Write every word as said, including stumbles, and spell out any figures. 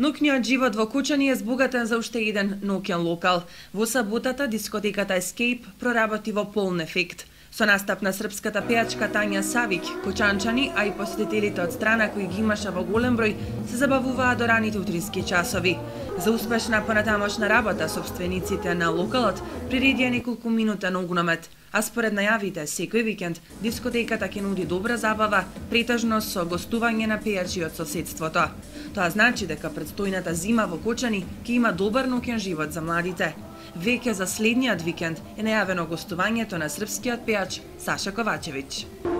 Ноќниот живот во Кучани е збогатен за уште еден ноќен локал. Во саботата дискотеката Escape проработи во полн ефект. Со настап на српската пејачка Тања Савик, кучанчани, а и посетителите од страна кои ги имаше во голем број, се забавуваа до раните утрински часови. За успешна понатамошна работа собствениците на локалот приредија неколку минутен огномет, а според најавите секој викенд дискотеката ќе нуди добра забава, претежно со гостување на пејачи од соседството. Тоа значи дека предстојната зима во Кучани ќе има добар ноќен живот за младите. Веќе за следниот викенд е најавено гостувањето на српскиот пејач Саша Ковачевиќ.